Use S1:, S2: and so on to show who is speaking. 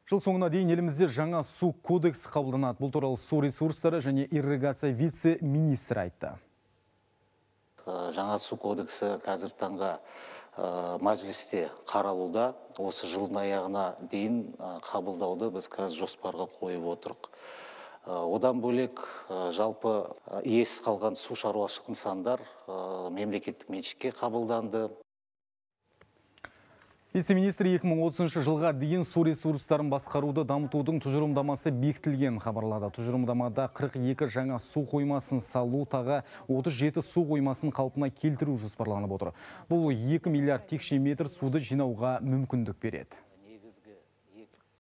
S1: Жыл соңына дейін елімізде жаңа су кодексі қабылданады. Бұл туралы су ресурстары және ирригация вице-министрі айтты.
S2: Жаңа су кодексі қазір таңға мәжілісте қаралуда. Осы жылдың аяғына дейін қабылдауды біз қазір жоспарға қойып отырық. Одан бөлек жалпы иесіз қалған су шаруашылық нысандар мемлекеттік меншікке қабылданды.
S1: Вице-министр 2030 жылға дейін су ресурстарын басқаруды дамытудың тұжырымдамасы бекітілген хабарлады. Тұжырымдамада 42 жаңа су қоймасын салу, тағы 37 су қоймасын қалпына келтіру жоспарланып отыр. Бұл 2 миллиард текше метр суды жинауға мүмкіндік береді.